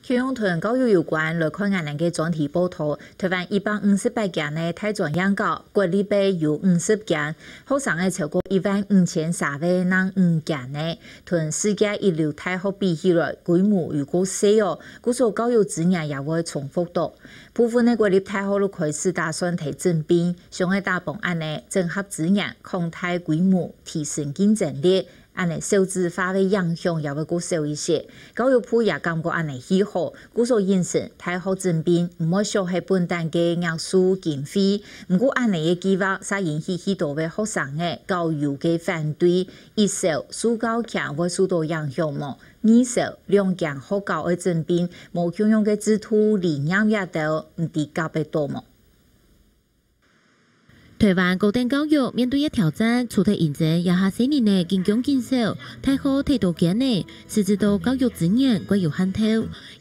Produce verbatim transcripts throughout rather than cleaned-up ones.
共樣同教育有關，來看𠊎等个專題報導。臺灣一百五十八間个大專院校，國立个有五十間，學生个超過一萬五千儕，正五間呢，同世界一流大學比起來，規模又過細哦，故所教育資源也會重複到。部分个國立大學都開始打算提整併，像係打幫恁呢，整合資源，擴大規模，提升競爭力。 恁呢少子化个影響也會較少一些。教育部也感覺恁呢係好，故所認成大學整併毋會少忒本旦个額數經費。毋過恁呢个計畫，煞引起許多个學生仔、校友个反對，一少，受教權會受到影響無？二少，兩間學校愛整併，無共樣个制度、理念這兜，毋知合得到無？ 臺灣高等教育面對个挑戰，除忒認真這下細人仔緊降緊少，大學忒多間了，實質到教育資源較有限透。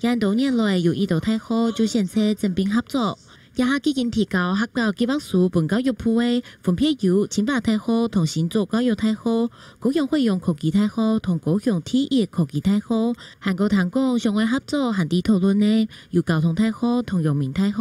也多年來有一兜大學就選擇整併合作。這下既經提交合格計畫書分教育部个，分別有清華大學同新竹教育大學、高雄海洋科技大學同高雄第一科技大學，還過聽講想愛合作還在討論呢，有交通大學同陽明大學、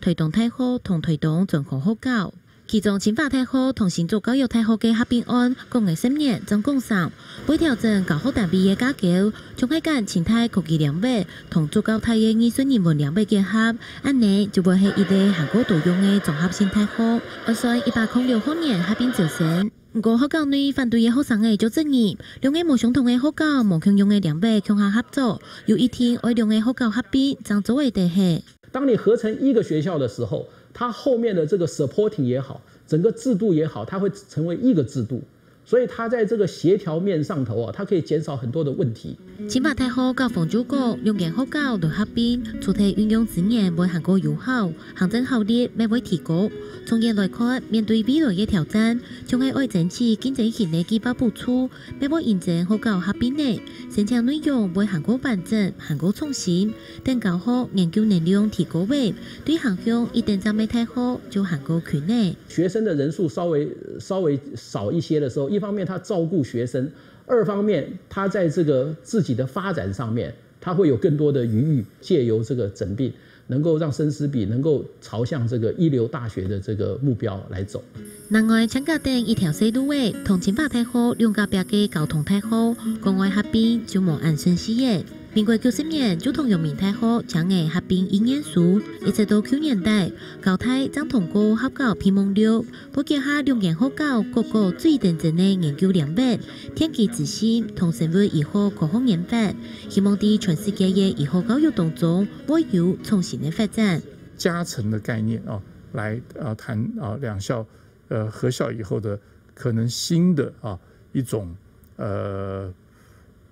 臺東大學同臺東專科學校。其中清華大學同新竹教育大學个合併案，講个十年正講成，會調整教學單位个架構，像係揀清大科技領域同竹教大个藝術人文領域結合，恁呢就會係一個還過多樣个綜合性大學。按算一百空六學年合併招生。毋過學校內反對个學生仔就質疑，兩個無相同个學校、無共樣个領域共下合作，又一定愛兩個學校合併正做會得係。 當你合成一個學校的時候，它後面的這個 supporting 也好，整個制度也好，它會成為一個制度，所以它在這個協調面上頭啊，它可以減少很多的問題。清華大學校方就講，兩間學校來合併，除忒運用資源會還過有效，行政效率乜會提高。長遠來看，面對未來个挑戰，像係愛爭取競爭型个計畫補助，乜會因應學校合併呢，申請內容會還過完整、還過創新。 等教學研究能量提高了，對行向一等站个大學就還過近了。學生的人數稍微稍微少一些的時候，一方面他照顧學生，二方面他在這個自己的發展上面，他會有更多的餘裕，藉由這個整併，能夠讓生師比能夠朝向這個一流大學的這個目標來走。另外，請假等一條細路仔，同清華大學兩隔壁个交通大學，講愛合併就無恁順序了。 民國九十年就同陽明大學簽个合併意願書，一直到舊年底，交大正通過合校備忘錄，會結合兩間學校各個最頂尖个研究領域，電機資訊同生物醫學科學研發，希望在全世界个醫學教育當中會有創新个發展。加成的概念啊，來啊談啊兩校呃合校以後的可能新的啊一种呃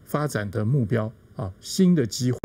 发展的目标啊，新的机会，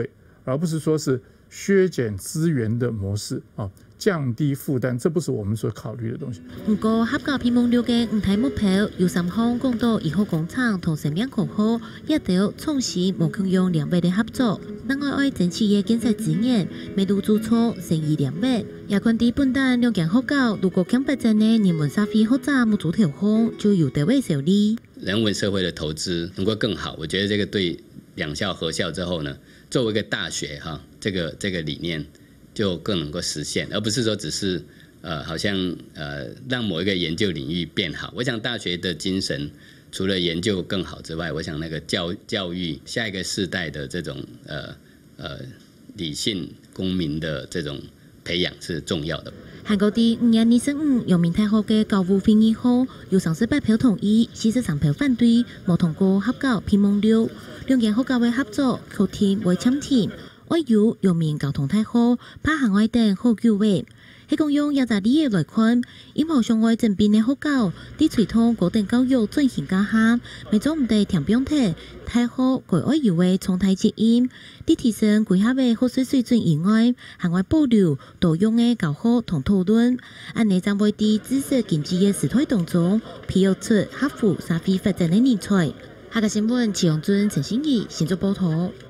而不是说是削减资源的模式啊，降低负担，这不是我们所考虑的东西。毋過，合校備忘錄个五大目標有三項講到醫學工程同生命科學，這兜創新無共樣領域个合作。另外愛爭取个建設資源，乜都注重生醫領域。也看在本旦兩間學校，如果強發展个人文社會學者目珠頭項，就有得位受利。 人文社会的投资能够更好，我觉得这个对两校合校之后呢，作为一个大学哈，这个这个理念就更能够实现，而不是说只是呃，好像呃让某一个研究领域变好。我想大学的精神除了研究更好之外，我想那个教教育下一个世代的这种呃呃理性公民的这种培养是重要的。還過在五月二十五，陽明大學个校務會議項，有三十八票同意，四十三票反對，無通過合校備忘錄。兩間學校个合作確定會暫停，愛由陽明交通大學拍行外等好久个。係講用這隻例仔來看，任何想愛整併个學校，在推動高等教育轉型該下，乜做毋得添放忒大學該愛有个重大責任。在提升歸校个學術水準以外， 還愛保留多樣个教學同討論，恁呢正會在知識經濟个時代當中，培育出合乎社會發展个人才。客家新聞，徐永俊、陳信怡，新竹報導。